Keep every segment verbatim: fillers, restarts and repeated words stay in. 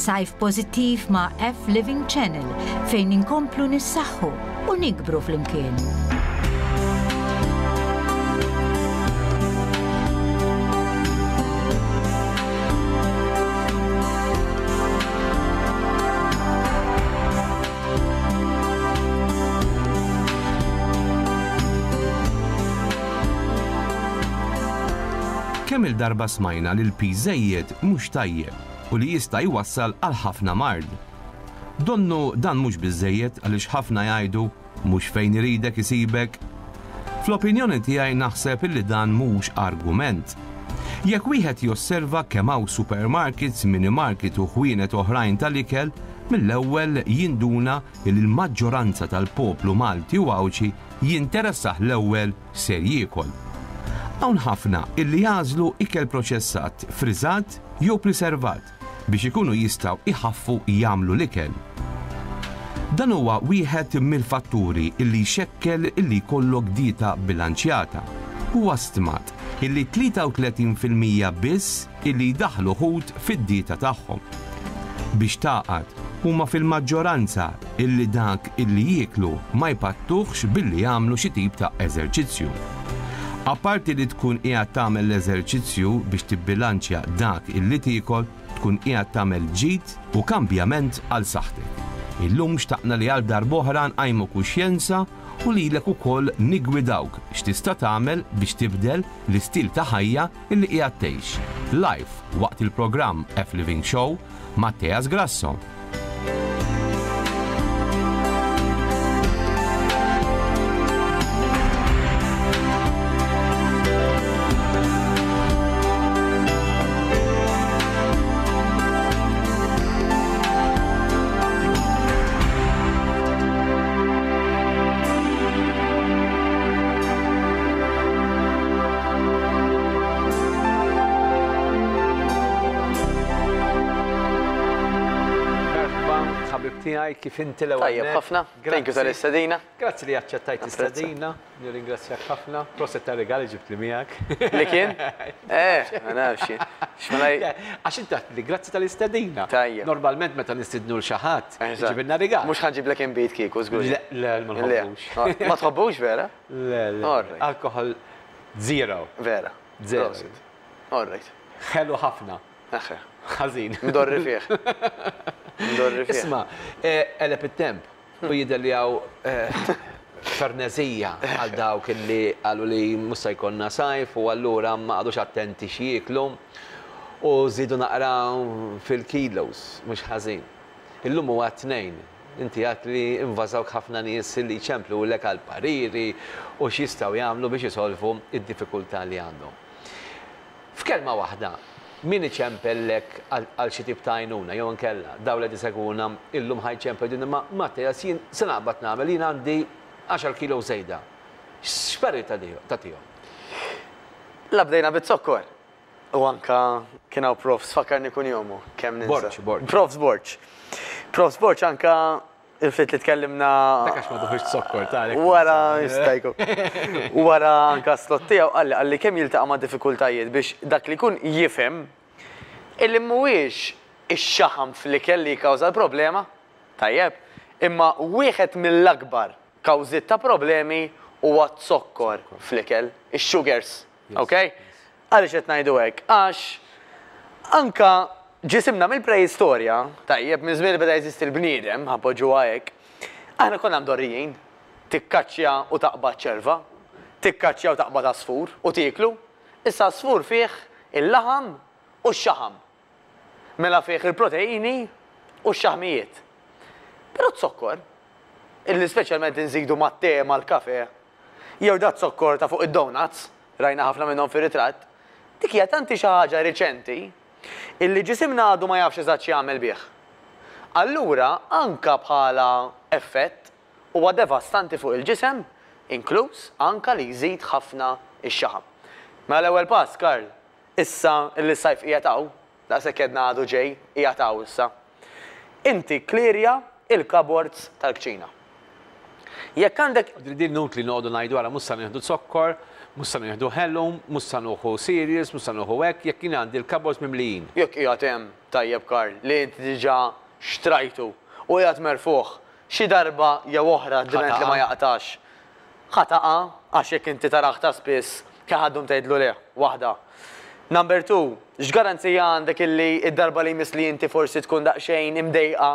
Sajf pożittiv ma' F Living Channel fejn inkomplu nissaħħu u nikbru flimkien. Kemm il-darba smajna li l-piż żejjed mhux tajjeb u li jista' jwassal għal ħafna mard. Donnu dan mhux biżejjed għaliex ħafna jgħidu mhux fejn iridek isibek. Fl-opinjoni tiegħi naħseb illi dan mhux argument. Jekk wieħed josserva kemm hawn supermarkets, minimarket u ħwienet oħrajn tal-ikel, mill-ewwel jinduna li l-maġġoranza tal-poplu Malti u Għawdxi jinteressah l-ewwel ser jiekol. Hawn ħafna illi jagħżlu ikel proċessat, friżat jew preservat biex ikunu jistgħu iħaffu jagħmlu l-ikel. Dan huwa wieħed mill-fatturi illi jxekkel illi jkollok dieta bilanċjata. Huwa stmat illi tlieta u tletin fil-mija biss illi jdaħħlu ħut fid-dieta tagħhom. Biex taqgħad huma fil-maġġoranza illi dak illi jieklu ma jpattuhx billi jagħmlu xi tip ta' eżerċizzju. Apparti li tkun qiegħed tagħmel l-eżerċizzju biex tibbilanċja dak illi tiekol, tkun qiegħed tagħmel ġid u kambjament għal saħħtek. Illum xtaqna li għal darb'oħra nqajmu kuxjenza u lilek ukoll nigwidawk x'tista' tagħmel biex tibdel l-istil ta' ħajja illi qiegħed tgħix. Live waqt il-programm F Living Show Matteas Grasso. Kif inti l-ewwel Tajjeb nett. ħafna. Thank you tal-istedina. Grazzi li aċċettajt Apprezza. l-istedina. Nirringrazzjak ħafna. Proset ta' regali ġibt li miegħek. Li kien? Eh, ma nafx jien. X'ma Le, għax inti għedt li grazzi tal-istedina. Tajjeb. Normalment meta nistidnu l xi ħadd, Eżatt. ġibilna rigal. Mhux ħanġiblek inbid kieku, żgur. Le, le, ma Le. nħobbux. Ma tħobbux vera? Le, le. All right. Alkohol zero. Vera. Zero. Proset. All right. Ħelu ħafna. Aħe. Ħażin. Mdorri fih. Mdorri fih. Isma', eh, eleb it-temp u jidher li hawn, eh, fernezija għal dawk illi qalu li mhux se jkollna sajf u allura ma qagħdux attenti x'jieklu u żidu naqra fil-kilos, mhux ħażin. Illum huwa tnejn. Inti għedt li invażawk ħafna nies li jċemplu lek għal pariri u x'jistgħu jagħmlu biex isolvu id-diffikultà li għandhom. F'kelma waħda, min iċempellek għal, għal xi tip ta' għajnuna jew inkella dawn li tiseguna illum ħajċempel din imma Matteas jien se naqbad nagħmel jien għandi għaxar kilo żejda. X'parir tagħtihom? La bdejna bit-zokkor. U anka kien hawn profs fakkarni kun jomu kemm ninsa. Borg, Borg. Profs Borg. Profs Borg anka il-ftit li tkellimna Dak għax ma tuħux zokkor tagħlek. Wara jista' jkun. Wara anka slot tiegħu qalli qalli kemm jiltaqa' ma' diffikultajiet biex dak li jkun jifhem illi mhuwiex ix-xaħam fl-ikel li jikkawża l-problema, tajjeb, imma wieħed mill-akbar kawżiet ta' problemi huwa z-zokkor fl-ikel, ix-sugars, Yes, ok? Għaliex qed ngħidu hekk? Għax anka ġisimna mill-preistorja, tajjeb, minn żmien li beda jeżisti l-bniedem, ħapoġġuha hekk, aħna konna mdorrijin, tikkaċċja u taqbad ċerva, tikkaċċja u taqbad għasfur u tieklu, issa għasfur fih il-laħam u x-xaħam. Mela fih il-proteini u x-xaħmijiet. Però z-zokkor, illi speċjalment inżidu mat-te, mal-kafe, jew da zokkor ta' fuq id-donuts, rajna ħafna minnhom fir-ritratt, dik hija tanti xi ħaġa riċenti illi ġisimna għadu ma jafx eżatt x'jagħmel bih. Allura anka bħala effett huwa devastanti fuq il-ġisem, inkluż anka li jżid ħafna ix-xaħam. Mela l-ewwel pass, Karl, issa illi s-sajf qiegħed hawn, daqshekk għedna għadu ġej, qiegħed hawn issa. Inti klirja il-cupboards tal-kċina. Jekk għandek Din nut li noqogħdu ngħidu għara mhux sa nieħdu zokkor, mhux sa nieħdu ħelu, mhux sa nieħu cereals, mhux sa nieħu hekk, jekk jien għandi l-cupboards mimlijin. Jekk qiegħed hemm tajjeb Karl li inti diġà xtrajtu u qiegħed merfuħ xi darba jew oħra diment li ma jaqtax. Ħa taqa' għax jekk inti tarah ta' spiss kemm ħaddum tgħidlu le, waħda. Number two, x'garanzija għandek illi id-darba li jmiss li inti forsi tkun daqsxejn imdejqa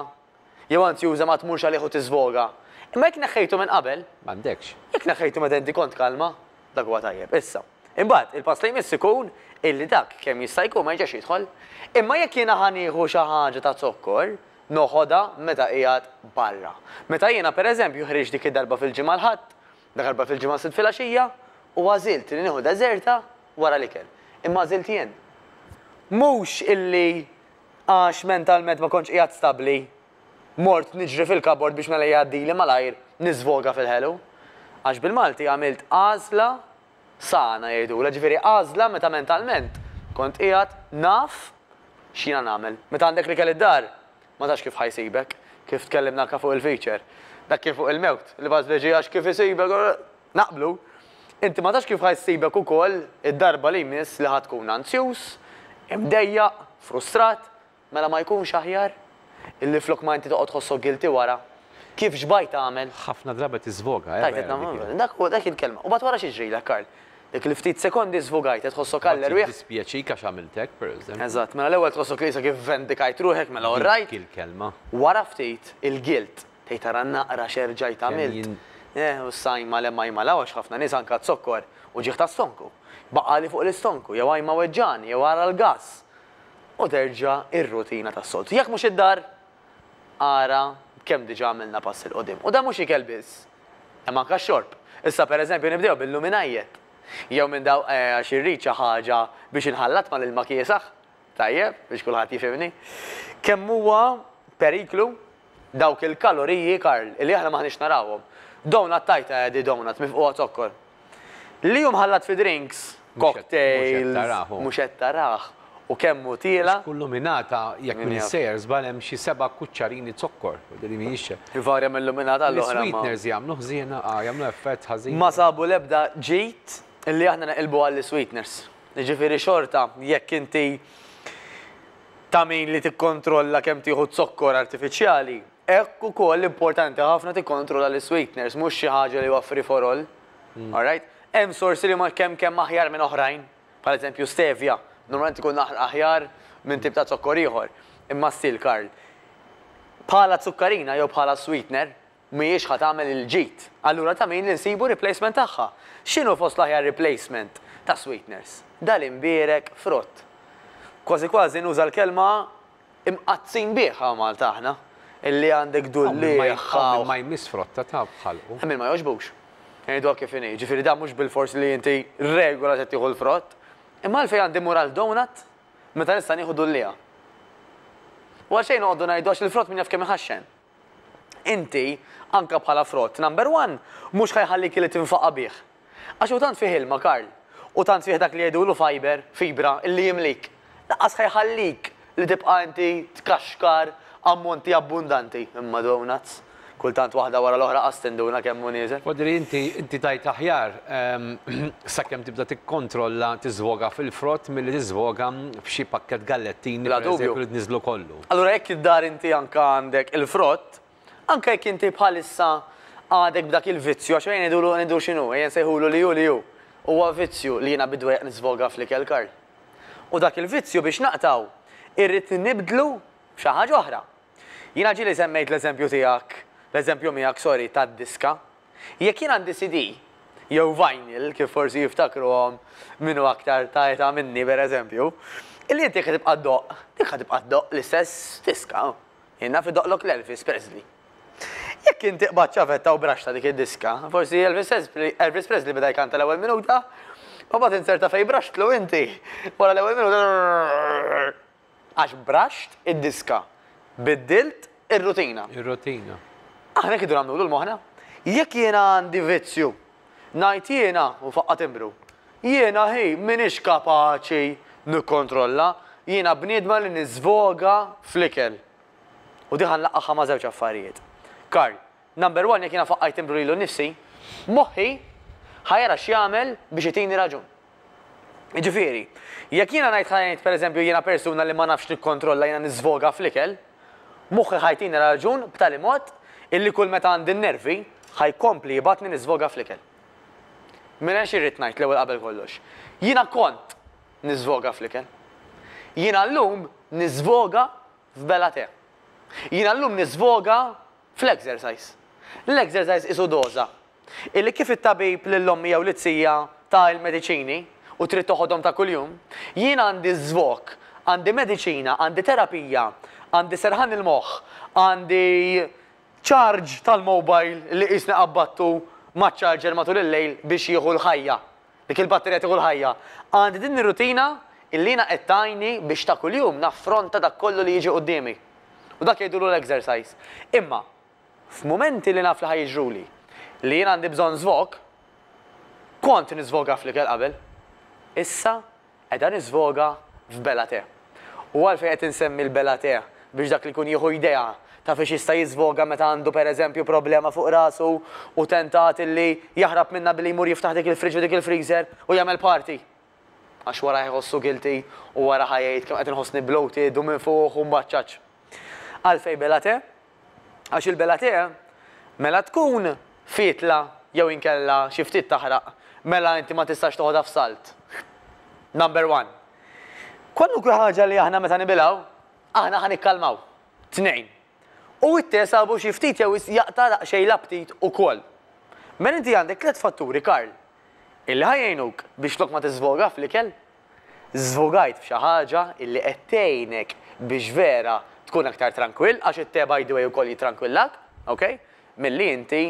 jew anzjuża ma tmurx għalih u tiżvoga. Imma jekk neħħejtu minn qabel, M'għandekx. jekk neħħejtu meta inti kont kalma, dak huwa tajjeb. Issa, imbagħad il-pass li jmiss ikun illi dak kemm jista' jkun ma jiġix jidħol. Imma jekk jiena ħa nieħu xi ħaġa ta' zokkor, noħodha meta qiegħed barra. Meta jiena pereżempju ħriġt dik id-darba fil-ġimgħa l-Ħadd, darba fil-ġimgħa Sibt filgħaxija, u għażilt li nieħu deżerta wara l-ikel. Imma għażilt jien. Mhux illi għax mentalment ma kontx qiegħed stabbli, mort niġri fil-cupboard biex mela jgħaddili malajr niżvoga fil-ħelu. Għax bil-Malti għamilt għażla sana jgħidula, ġifieri għażla meta mentalment kont qiegħed naf x'jiena nagħmel. Meta għandek l-ikel id-dar, ma tafx kif ħa jsibek, kif tkellimna anke fuq il-feature. Dak kien fuq il-mewt, li baż veġi għax kif isibek, naqblu. Inti ma tafx kif ħa jsibek ukoll id-darba li jmiss li ħa tkun anzjuż, imdejjaq, frustrat, mela ma jkunx aħjar illi flok ma inti toqgħod tħossok guilty wara. Kif xbajt tagħmel? Ħafna drabi tiżvoga, eh, Tajt, vera dik nagħmel, dak huwa dak il-kelma. U bat wara xi ġrilek, Karl? Dik li ftit sekondi żvogajt, tħossok għall-erwieħ. Dispjaċik għax għamiltek, per eżempju. Eżatt, mela l-ewwel tħossok li kif vendikajt ruħek, mela all right. Dik il-kelma. Wara ftit il-guilt, tgħid tara naqra x'erġajt għamilt. jien- Eh, u sajma le ma jmalaw għax ħafna nies anka zokkor u ġieħ ta' stonku. Baqali fuq l-istonku, jew għajma weġġani, jew ara l-gas. U terġa' ir-rutina tas-soltu. Jekk mhux id-dar, ara kemm diġà għamilna pass 'il quddiem. U da mhux ikel biss, hemm anke x-xorb. Issa pereżempju nibdew bil-luminajiet. Jew minn daw eh, għax irrid xi ħaġa biex inħallat mal-ilma kiesaħ. Tajjeb, biex kulħadd jifhimni. Kemm huwa periklu dawk il-kaloriji, Karl, li aħna maħniex narawhom. Donut tajta di donut mifquha zokkor. Li jum ħallat fi drinks, Mhux qed- mhux qed cocktails, tarah. mhux qed tarah. U kemm hu tiela, Kull luminata jekk Min minn jaf. sejjer żball hemm xi seba' kuċċarini zokkor. Li mhijiex. varja mill-luminata l-oħra. ma- L-sweeteners jagħmlu ħżiena, ah, jagħmlu effett ħażin. Ma sabu l-ebda ġit illi aħna naqilbu għall sweeteners. Ġifieri xorta, jekk inti ta' min li tikkontrolla kemm tieħu zokkor artifiċjali, hekk ukoll importanti ħafna tikkontrolla l-sweeteners, mhux xi ħaġa li huwa free for all. All right? Hemm sorsi li ma kemm kemm aħjar minn oħrajn, bħal eżempju stevia, normalment ikun aħjar minn tip ta' zokkor ieħor. Imma still Karl, bħala zukkarina jew bħala sweetener mhijiex ħa tagħmel il-ġid. Allura ta' min li nsibu replacement tagħha. X'inhu fost l-aħjar replacement ta' sweeteners? Dal-imbierek frott. Kważi kważi nuża l-kelma imqazzin biħa Malta aħna. Illi għandek Hawn ma dulli ma jmiss frotta ta' bħalqu. Min ma jogħġbux. Ngħidu kif inhi. Ġifieri da mhux bil-fors li inti regola se tieħu l-frott. Imma għalfejn għandi mur għal donut meta nista' nieħu dullija. U għalxejn noqogħdu ngħidu għax il-frott min jaf kemm iħaxxen. Inti, anka bħala frott, number one, mhux ħa jħallik li tinfaqa bih. Għax u tant fih ilma, Karl, u tant fih dak li jgħidulu fiber, fibra, illi jimlik. Lanqas ħa jħallik li tibqa' inti tkaxkar ammonti abbundanti. Imma donuts, kultant waħda wara l-oħra qas tinduna kemm hu nieżel. Wadri inti inti tajt aħjar ehm, sakemm tibda tikkontrolla tiżvoga fil-frott milli tiżvoga f'xi pakket gallettini Bla per dubju. eżempju, li tniżlu kollu. Allura jekk id-dar inti anka għandek il-frott, anka jekk inti bħalissa għadek b'dak il-vizzju, għax ejja ngħidulu ngħidu x'inhu, ejja nsejħulu li hu li hu. Huwa vizzju li jiena bidwejq niżvoga fl-ikel Karl. U dak il-vizzju biex naqtaw, irrid nibdlu f'xi ħaġa oħra. Jiena ġieli semmejt l-eżempju tiegħek, l-eżempju miegħek, sorry, tad-diska. Jekk jien għandi C D, jew vinyl, kif forsi jiftakruhom minnu aktar ta' età minni, per eżempju, illi inti ħa tibqa' ddoqq, dik ħa tibqa' ddoqq l-istess diska. Jien naf idoqqlok l-Elvis Presley. Jekk inti qbad ċavetta u braxta dik id-diska, forsi Elvis Presley, Elvis Presley beda jkanta l-ewwel minuta, u mbagħad inserta fej braxtlu inti. Wara l-ewwel minuta għax braxt id-diska. Biddilt ir-rutina. Ir-rutina. Aħna kidu nagħmlu l-moħna. Jekk jiena għandi vizzju, ngħid jiena u faqqa timbru. Jiena hi m'iniex kapaċi nikkontrolla, jiena bniedma li niżvoga fl-ikel. U di ħa nlaqqagħha ma' żewġ affarijiet. Karl, Number one, jekk jiena faqqajt timbru lilu nnifsi, moħħi ħa jara x'jagħmel biex itini raġun. Jiġifieri, jekk jiena ngħid, ħa ngħid pereżempju, jiena persuna li ma nafx nikkontrolla, jiena niżvoga fl-ikel, moħħi ħa jtini raġun b'tali mod illi kull meta għandi n-nervi ħa jkompli jibgħatni niżvoga fl-ikel. Mela xi rrid ngħid l-ewwel qabel kollox? Jiena kont niżvoga fl-ikel. Jiena llum niżvoga f'bela te. Jiena llum niżvoga fl-exercise. L-exercise isu doża. Illi kif it-tabib lil ommi jew lit-tija ta l-mediċini u trid toħodhom ta' kuljum, jiena għandi żvog, għandi mediċina, għandi terapija, għandi serħan il-moħħ, għandi charge tal-mobile li qisni qabbattu ma' charger matul il-lejl biex jieħu l-ħajja. Dik il-batterija tieħu l-ħajja. Għandi din ir-rutina illi jiena qed tgħinni biex ta' kuljum naffronta dak kollu li jiġi quddiemi. U dak jgħidulu l-exercise. Imma f'mumenti li naf li ħa jiġruli li jien għandi bżonn żvog, kont niżvoga fl-ikel qabel. Issa qiegħda niżvoga f'bela te. U għalfejn qed insemmi l-bela te? Biex dak li jkun jieħu idea ta' fiex jista' jiżvoga meta għandu pereżempju problema fuq rasu u tentat illi jaħrab minna billi jmur jiftaħ dik il-fridge u dik il-freezer u jagħmel party. Għax wara jħossu guilty u wara ħa jgħid kemm qed inħossni bloated u minn fuq u mbaċċaċ. Għalfejn bela te? Għax il-bela te mela tkun fitla jew inkella xi ftit taħraq, mela inti ma tistax toħodha f'salt. Number one. Kwalunkwe ħaġa li aħna meta nibilgħu, aħna ħa nikkalmaw. Tnejn. U it-te sabu xi ftit jew jaqta' daqsxejn l-aptit ukoll. Mela inti għandek tliet fatturi, Karl, illi ħa jgħinuk biex flok ma tiżvoga fl-ikel, żvogajt f'xi ħaġa illi qed tgħinek biex vera tkun aktar trankwill, għax it-te by the way ukoll jitrankwillak, ok? Milli inti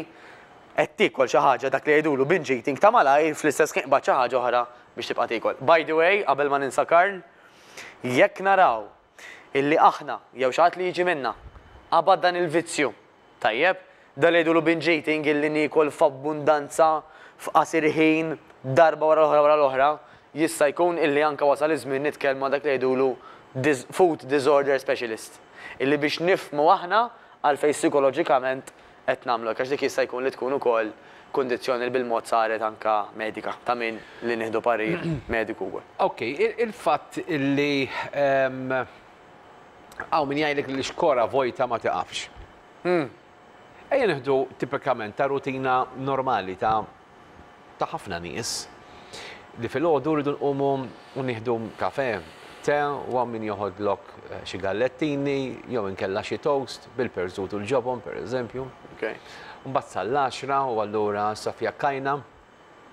qed tiekol xi ħaġa, dak li jgħidulu binge eating ta' malajr, fl-istess ħin qbad xi ħaġa oħra biex tibqa' tiekol. By the way, qabel ma ninsa, Karl, jekk naraw illi aħna jew xi ħadd li jiġi minna qabad dan il-vizzju, tajjeb, dan li jgħidulu binge eating, illi niekol f'abbundanza f'qasir ħin darba wara l-oħra wara l-oħra, jista' jkun illi anka wasal iż-żmien nitkellmu dak li jgħidulu dis food disorder specialist. Illi biex nifhmu aħna għalfejn psikoloġikament qed nagħmlu, għax dik jista' jkun li tkun ukoll kundizzjoni li bil-mod saret anka medika, ta' min li nieħdu parir mediku wkoll. Ok, il-fatt illi hawn min jgħidlek li xkora vojta ma tiqafx. Hmm. Ejja nieħdu tipikament ta' rutina normali ta' ta' ħafna nies li filgħodu rridu nqumu u nieħdu kafe, te, u hawn min joħodlok eh, xi gallettini jew inkella xi toast bil-perżut u l-ġobon, per eżempju. Okay. Mbagħad sal-għaxra u allura sa fjakkajna,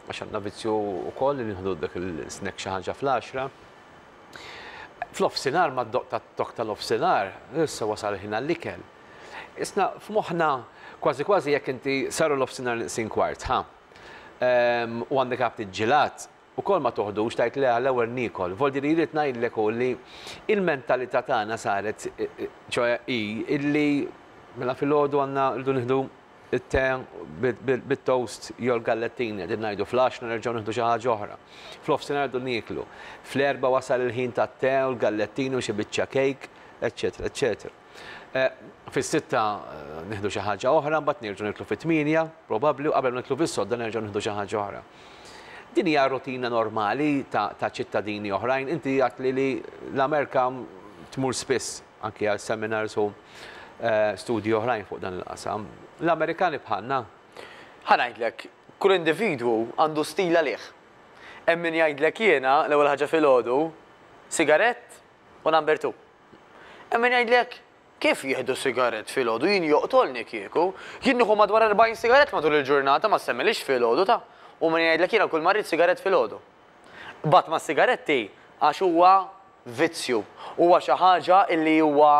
għax għandna vizzju wkoll li nieħdu dak il-snack, xi ħaġa fl-għaxra. Fl-offsinar, ma d-doq tat-tok tal-offsinar, issa wasal ħin għall-ikel. Isna f'moħħna kważi kważi jekk inti saru l-offsinar neqsin kwart, ha? Ehm, U għandek għabti ġilat, u kol ma toħdux, tajt le, għall-ewwel niekol. Voldi li jrid ngħidlek hu li il-mentalità tagħna saret, ċoè i illi mela filgħodu għandna rridu nieħdu it-te bit-toast jew l-gallettini, qegħdin ngħidu fl-għaxra nerġgħu nieħdu xi ħaġa oħra. Fl-offsinar rridu nieklu. Fl-erba' wasal il-ħin tat-te u l-gallettini u xi biċċa cake, eċċetera, eċċetera. Eh, Fis-sitta eh, nieħdu xi ħaġa oħra, mbagħad nerġgħu nieklu fit-tmienja, probabbli, u qabel nieklu fis-sodda nerġgħu nieħdu xi ħaġa oħra. Din hija rutina normali ta' ta' ċittadini oħrajn. Inti għat li li l-Amerika tmur spiss anki għal seminars u eh, studji oħrajn fuq dan il-qasam. L-Amerikani bħalna? Ħa ngħidlek, kull individwu għandu stil għalih. Hemm min jgħidlek jiena l-ewwel ħaġa filgħodu sigarett u number two. Hemm min jgħidlek kif jieħdu sigarett filgħodu, jien joqtolni kieku, jien nieħu madwar erbgħin sigarett matul il-ġurnata, ma semmilix filgħodu ta'. U min jgħidlek jiena kull ma rrid sigarett filgħodu. Bat ma' sigaretti għax huwa vizzju, huwa xi ħaġa illi huwa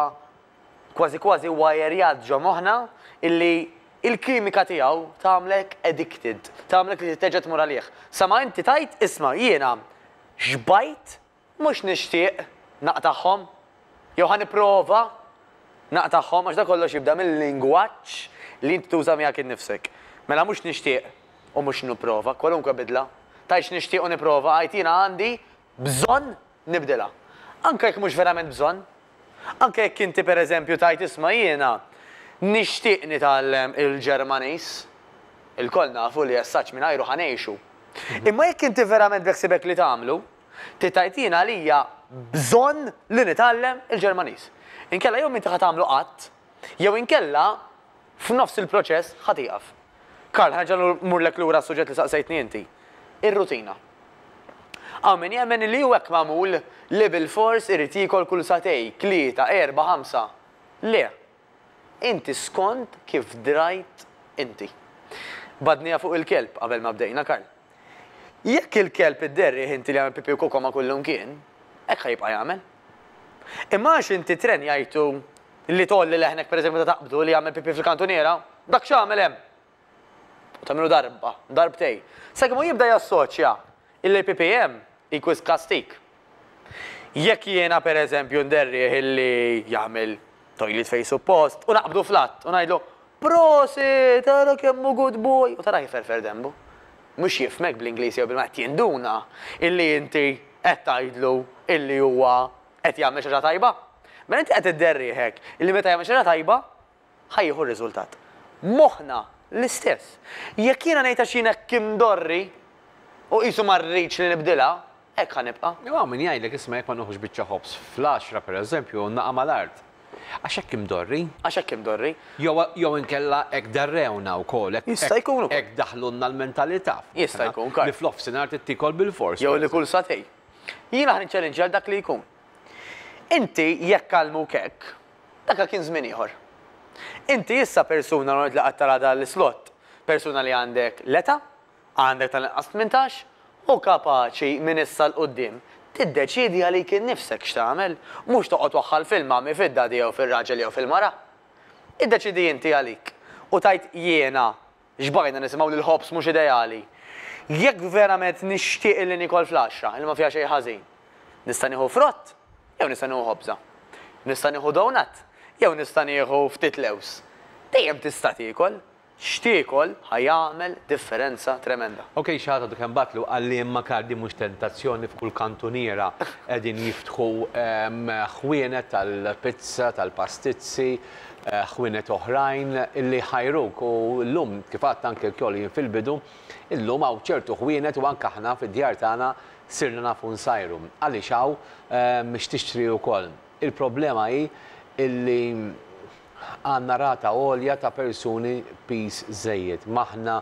kważi kważi wajerjat ġo moħħna, illi il-kimika tiegħu tagħmlek addicted, tagħmlek li terġa' tmur għalih. Sa ma inti tajt isma' jiena xbajt, mhux nixtieq naqtagħhom, jew ħa nipprova naqtagħhom, għax da kollox jibda mill-lingwaġġ li inti tuża miegħek innifsek. Mela mhux nixtieq u mhux nipprova, kwalunkwe bidla. Tajx nixtieq u nipprova, għajt jiena għandi bżonn nibdilha. Anke jekk mhux verament bżonn. Anke jekk inti pereżempju tajt isma' jiena Nixtieq nitgħallem il-Ġermaniż, ilkoll nafu li essaċ mingħajru ħa ngħixu. Imma jekk inti verament beħsibek li tagħmlu, tgħid jiena għalija bżonn li nitgħallem il-Ġermaniż. Inkella jew m'inti ħa tagħmlu qatt, jew inkella f'nofs il-proċess ħa tieqaf. Karl, ħa nerġa' mmurlek lura s-suġġett li saqsejtni inti. Ir-rutina. Hawn min jemmen li hu hekk magħmul li bil-fors irid jiekol kull sagħtejn, tlieta, erba', ħamsa. Le. Inti skont kif drajt inti. Badnija fuq il-kelb qabel ma bdejna, Karl. Jekk il-kelb idderrih inti li jagħmel pipi u koko ma' kullum kien, hekk ħa jibqa' jagħmel. Imma għax inti trenjajtu li tgħolli leħnek pereżempju ta' taqbdu li jagħmel pipi fil-kantuniera, dak x'għamel hemm? U tagħmilu darba, darbtej. Sakemm hu jibda jassoċja illi pipi hemm ikwis kastik. Jekk jiena pereżempju nderrih illi jagħmel toilet fej suppost u naqbdu flat u ngħidlu prosit, tara kemm hu good boy, u tara jferfer dembu. Mhux jifhmek bl-Ingliż jew bil-Malti, jinduna illi inti qed tgħidlu illi huwa qed jagħmel xi ħaġa tajba. Mela inti qed idderriħek illi meta jagħmel xi ħaġa tajba ħa jieħu r-riżultat. Moħħna l-istess. Jekk jiena ngħid għax jien hekk imdorri u qisu ma rridx li nibdilha, hekk ħa nibqa'. Jew hawn min jgħidlek isma' jekk ma nieħux biċċa ħobż fl-għaxra pereżempju naqa' mal-art. Għax hekk imdorri. Għax hekk imdorri. Jew, jew inkella hekk darrewna wkoll, hekk Jista' jkun ukoll. hekk daħlulna l-mentalità. Jista' jkun, Karl. Li fl-offsinar tittikol bil-fors. Jew li kull sagħtejn. Jiena ħa niċċellinġja għal dak li jkun. Inti jekk għallmuk hekk, dak kien żmien ieħor. Inti issa persuna li qed tara dan l-slot, persuna li għandek l-età, għandek tal-inqas tmintax, u kapaċi minn issa 'l quddiem tiddeċidi għalik innifsek x'tagħmel, mhux toqgħod waħħal fil-mami, fid-daddy jew fir-raġel jew fil-mara. Iddeċidi inti għalik u tajt jiena xbajna nisimgħu li l-ħobż mhux ideali. Jekk verament nixtieq li nikol fl-għaxra, li ma fiha xejn ħażin, nista' nieħu frott jew nista' nieħu ħobża. Nista' nieħu donut jew nista' nieħu ftit lews. Dejjem tista' tiekol, x'tiekol ħa jagħmel differenza tremenda. Ok, xi ħadd għadu kemm batlu qalli imma Karl mhux tentazzjoni f'kull kantuniera qegħdin jiftħu, ehm, ħwienet tal-pizza, tal-pastizzi, eh, ħwienet oħrajn illi ħajruk u llum kif għedt anke l-kjoli jien fil-bidu, illum hawn ċertu ħwienet u anke aħna fid-djar tagħna sirna nafu nsajru. Għaliex hawn, ehm, x'tixtri wkoll. Il-problema hi illi għandna rata għolja ta' persuni piż żejjed. M'aħna,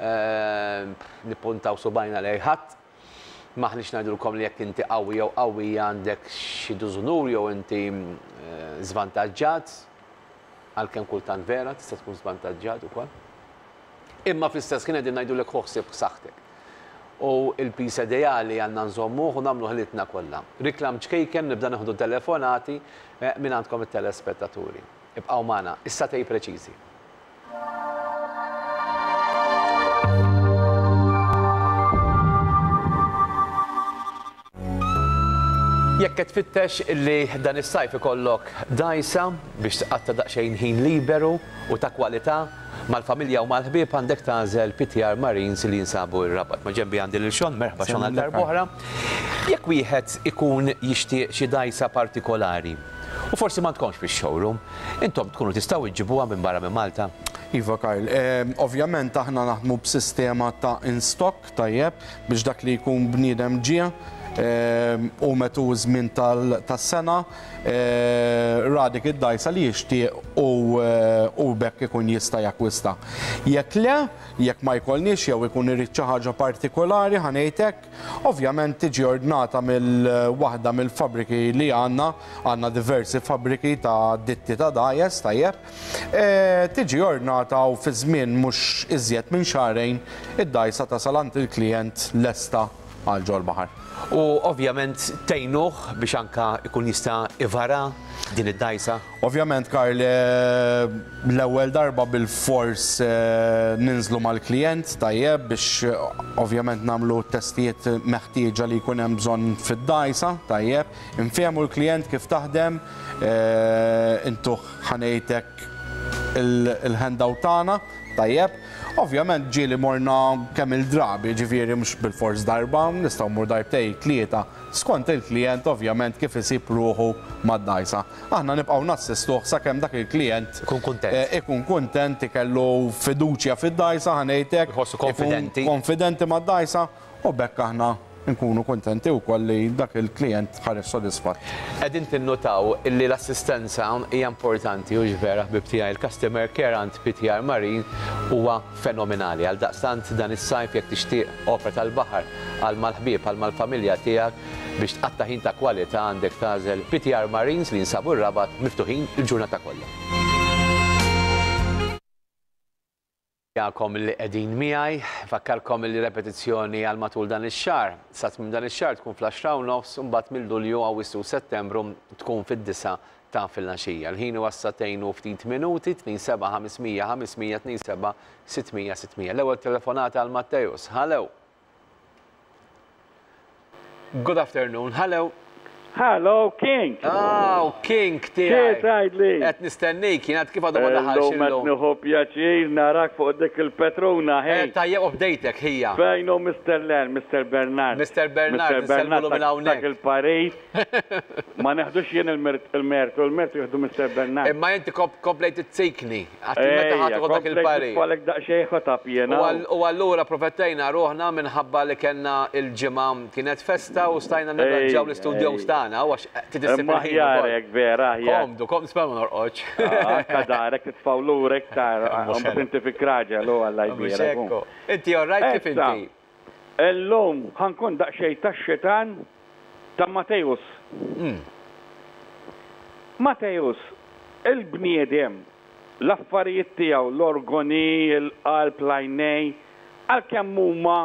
eh, nippuntaw subajna lejn ħadd, m'aħniex ngħidulkom li jekk inti qawwi jew qawwija għandek xi dużunur jew inti, eh, żvantaġġat, għalkemm kultant vera tista' tkun żvantaġġat ukoll. Imma fl-istess ħin qegħdin ngħidulek ħossib b'saħħtek. U l-piż ideali għandna nżommuh u nagħmlu ħilitna kollha. Riklam ċkejken nibda nieħdu telefonati, eh, minn għandkom it-telespettaturi. Ibqgħu magħna, issa tej preċiżi. Jekk qed tfittex li dan is-sajf ikollok dgħajsa biex tqatta' daqsxejn ħin liberu u ta' kwalità mal-familja u mal-ħbieb, għandek tagħżel P T R Marines li jinsabu r-Rabat. Ma' ġenbi għandi lil Sean, merħba Sean għal darb'oħra. Jekk wieħed ikun jixtieq xi dgħajsa partikolari u forsi ma tkomx fix-showroom, intom tkunu tistgħu iġġibuha minn barra minn Malta? Iva Karl, ehm, ovvjament aħna naħdmu b'sistema ta' in-stock tajjeb biex dak li jkun bniedem ġie, ehm, u metu żmien tal-, tas-sena, eh, ra dik id-dgħajsa li jixtieq u, eh, u bekk ikun jista' jakkwista. Jekk le, jekk ma jkollniex jew ikun irid xi ħaġa partikolari, ħa ngħidlek, ovvjament tiġi ordnata mill waħda mill-fabriki li għandna, għandna diversi fabriki ta' ditti ta' dgħajjes, tajjeb, eh, tiġi ordnata u fi żmien mhux iżjed minn xahrejn id-dgħajsa tasal għand il-klijent lesta għal ġol-baħar. U ovvjament tgħinuh biex anka ikun jista' ivara din id-dgħajsa? Ovvjament, Karl, eh, l-ewwel darba bil-fors, eh, ninżlu mal-klijent tajjeb biex, eh, ovvjament nagħmlu testijiet meħtieġa li jkun hemm bżonn fid-dgħajsa tajjeb, infehmu l-klijent kif taħdem, eh, intuh ħanejtek il-handout tagħna tajjeb, Ovvjament ġieli morna kemm il-drabi, ġifieri mhux bil-fors darba, nistgħu mmur darbtejn, tlieta, skont il-klient ovvjament kif isib ruħu mad-dgħajsa. Aħna nibqgħu nassistuh sakemm dak il-klient Ikun kuntent. eh, ikun kuntent, ikellu fiduċja fid-dgħajsa, ħa ngħidlek. Iħossu ikun konfidenti. Konfidenti mad-dgħajsa u b'hekk aħna nkunu kontenti wkoll li dak il-klient ħareġ sodisfatt. Qegħdin tinnutaw illi l-assistenza hija importanti u vera ħbib tiegħi il-customer care għand P T R Marine huwa fenomenali. Għal daqstant dan is-sajf, jekk tixtieq opra tal-baħar għal mal-ħbieb, għal mal-familja tiegħek biex tqatta' ħin ta' kwalità, għandek tagħżel P T R Marines li jinsabu r-Rabat, miftuħin il-ġurnata kollha. Jakom li qegħdin miegħi, fakkarkom li repetizzjoni għal matul dan ix-xahar. Sa tmiem dan ix-xahar tkun fl-għaxra u nofs, u mbagħad mill-Lulju, Awwissu u Settembru tkun fid-disgħa ta' filgħaxija. Il-ħin huwa sagħtejn u ftit minuti, tnejn seba' ħames mija ħames mija, tnejn seba' sitt mija sitt mija. L-ewwel telefonata għal Matteus. Hello. Good afternoon. Hello. Hello, King. Oh, King tiegħi. Kif tgħidli? Qed nistennik, jien għad kif għadu ma daħalx Illum qed illum. nieħu pjaċir narak fuq dik il-petruna, Eh, ħej. Tajjeb u bdejtek ħija. Fejn hu Mister Len, Mister Bernard? Mister Bernard, Mister Bernard insellmulu minn dak- hawnhekk. Dak il-Paris. Ma neħdux jien il-mert- il-mertu, il-mertu jieħdu Mister Bernard. Imma inti kop- komplejt it-tsikni. Għatti meta ħadd dak il-parir. Falek daqsxejn ħotab jiena. U għall- U allura profettejna ruħna minħabba li kellna il-ġimgħa kienet festa u stajna nirranġaw Ej, l-istudio ej. tagħna u għax tidissib Imma il-ħin aħjar ukoll. hekk vera, aħjar. Komdu, kom spera ma norqodx. Anka darek titfaw lurek tar, Mhux mbagħad inti fi kraġel u Alla Mhux jbierek. hekk. Inti all right, kif Issa, inti? Illum ħa nkun daqsxejn tax-xitan ta' Matteus. Mm. Matteus, il-bniedem, l-affarijiet tiegħu, l-organi, il-qalb, l-għajnej, għalkemm huma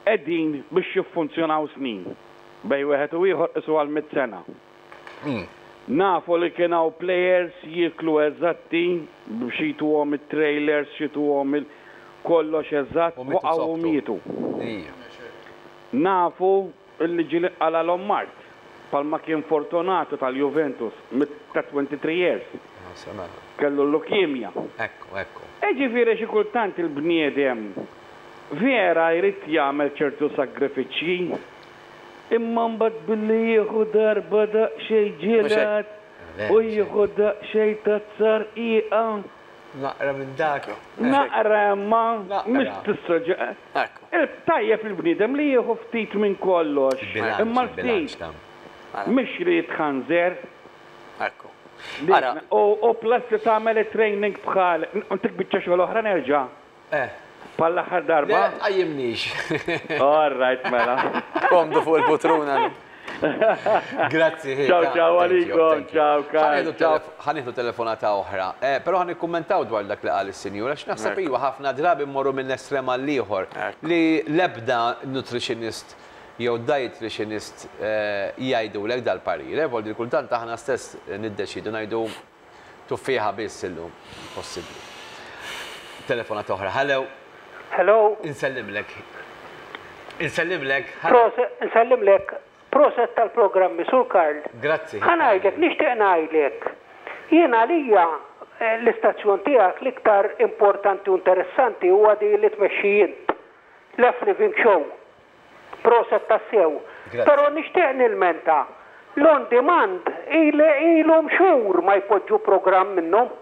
qegħdin biex jiffunzjonaw snin. Bejn wieħed u ieħor isu għal mitt sena. Mm. Nafu li kien hawn players jieklu eżatti, biex jituhom it-trailers, jituhom il kollox eżatt, U mitu waqgħu u sobtu. mietu. Ija. Nafu illi ġieli qalgħalhom mard, bħalma kien Fortunato tal-Juventus, mit ta' twenty-three years, kellu l-leukemia. Ekku, ekku. Ġifieri xi kultant il-bniedem vera jrid jagħmel ċertu sagrifiċċji, imma mbagħad billi jieħu darba daqsxejn ġelat u jieħu daqsxejn tazzar iqa. Naqra minn dak. Naqra ma Naqra. mhux tissoġa. Ekku. Tajjeb il-bniedem li jieħu ftit minn kollox, Bilanċ, imma il-bilanċ ftit ta' mhux li jitħanżer. Ekku. Ara, U u plus li tagħmel it-training bħal, intik biċċa xogħol oħra nerġa'. Eh, Bħal l-aħħar le, darba. tqajjimnix. All right, mela. Komdu fuq il-putruna. Grazzi. Ciao, ta' ciao, thank you, għalikom, thank you. ciao, Karl, Ħa nieħdu ciao. telef- Ħa nieħdu telefonata oħra. Eh, Però ħa nikkummentaw dwar dak li qal is-sinjura, għax naħseb iwa ħafna drabi mmorru minn estrem għal ieħor Ekku. li l-ebda nutritionist jew dietitianist eh, jgħidulek dal-parir. Eh, Vuol dire kultant aħna stess niddeċidu ngħidu tuffieħa biss illum. Possibbli. Telefonata oħra. Hello, Hello, insellimlek. Insellimlek. Hello. proset, nsellimlek, proset tal-programmi, Sur Karl. Grazzi. Ħa ngħidlek, nixtieq ngħidlek. Jien għalija eh, l-istazzjon tiegħek l-iktar importanti u interessanti huwa di li tmexxi int. L-F Living Show. Proset tassew. Grazzi. Però nixtieq nilmenta. L-on demand ilhom xhur ma jpoġġu programm minnhom.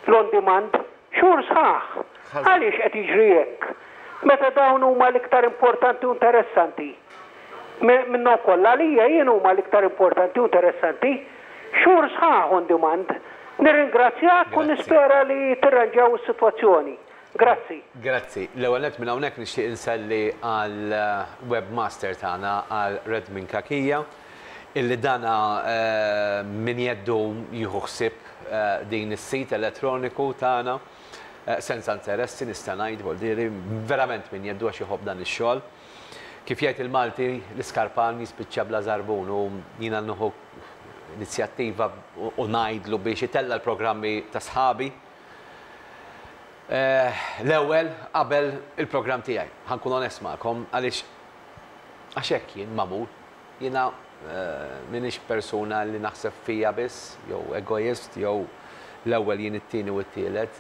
L-on demand xhur sħaħ. Ħażin. Għaliex qed jiġri hekk? Meta dawn huma l-iktar importanti u interessanti. Me- Minnhom kollha għalija jien huma l-iktar importanti u interessanti. Xhur sħaħ on demand. Nirringrazzjak u Grazzi. nispera li tirranġaw is-sitwazzjoni. Grazzi. Grazzi. L-ewwel nett minn hawnhekk nixtieq inselli għal eh, webmaster tagħna, għal Redmin Kakija, illi dana eh, min jeddu jieħu ħsieb eh, din is-sit elettroniku tagħna eh, senza interessi nista' ngħid, vuol dire verament min jeddu għax iħobb dan ix-xogħol. Kif jgħid il-Malti, l-iskarpan jispiċċa bla żarbun, u jiena nieħu inizjattiva u u ngħidlu biex itella l-programmi ta' sħabi Eh, l-ewwel qabel il-programm tiegħi. Ħa nkun onest magħkom għaliex għax hekk jien magħmul. Jiena eh, m'iniex persuna li naħseb fija biss, jew egoist, jew l-ewwel jien, it-tieni u t-tielet.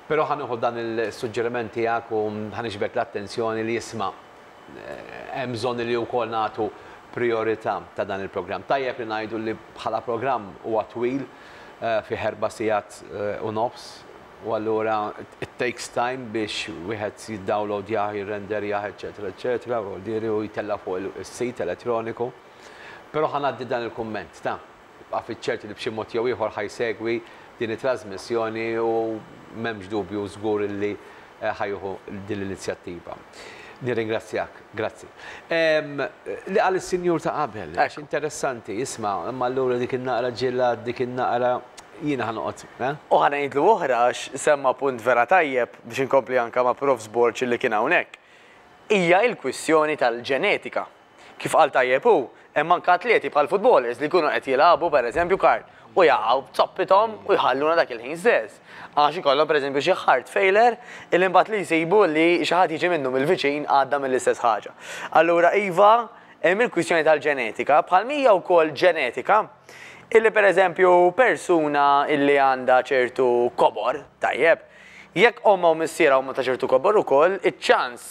Però ħa nieħu dan il-suġġeriment tiegħek u ħa niġbed l-attenzjoni li jisma' hemm bżonn li wkoll nagħtu priorità ta' dan il-programm. Tajjeb li ngħidu li bħala programm huwa twil fi erba' sigħat u nofs, u allura it takes time biex wieħed jiddownloadjah, jirrenderjah, eċetera, eċetera, u diri u jtella' fuq is-sit elettroniku. Però ħa ngħaddi dan il-kumment ta' ibqa' fiċ-ċert li b'xi mod jew ieħor ħa jsegwi din it-trasmissjoni u m'hemmx dubju żgur li ħa jieħu din l-inizjattiva. Nirringrazzjak, grazzi. Li qal is-sinjur ta' qabel, għax interessanti, isma', imma allura dik in-naqra ġilad, dik in-naqra jiena ħa noqgħod, eh? U ħa ngħidlu oħra għax semma punt vera tajjeb biex inkompli anka ma' Profs Borg li kien hawnhekk. Hija l-kwistjoni tal-ġenetika. Kif qal tajjeb hu, hemm anke atleti bħal footballers li jkunu qed jilagħbu pereżempju Karl u jaqgħu b'zoppithom u jħalluna dak il-ħin stess. Għax ikollhom pereżempju xi heart failure illi mbagħad li jsibu li xi ħadd jiġi minnu mill-viċin għadda mill-istess ħaġa. Allura iva, hemm il-kwistjoni tal-ġenetika, bħal mija wkoll ġenetika illi pereżempju persuna illi għandha ċertu kobor, tajjeb, jekk omma u missiera huma ta' ċertu kobor ukoll, iċ-ċans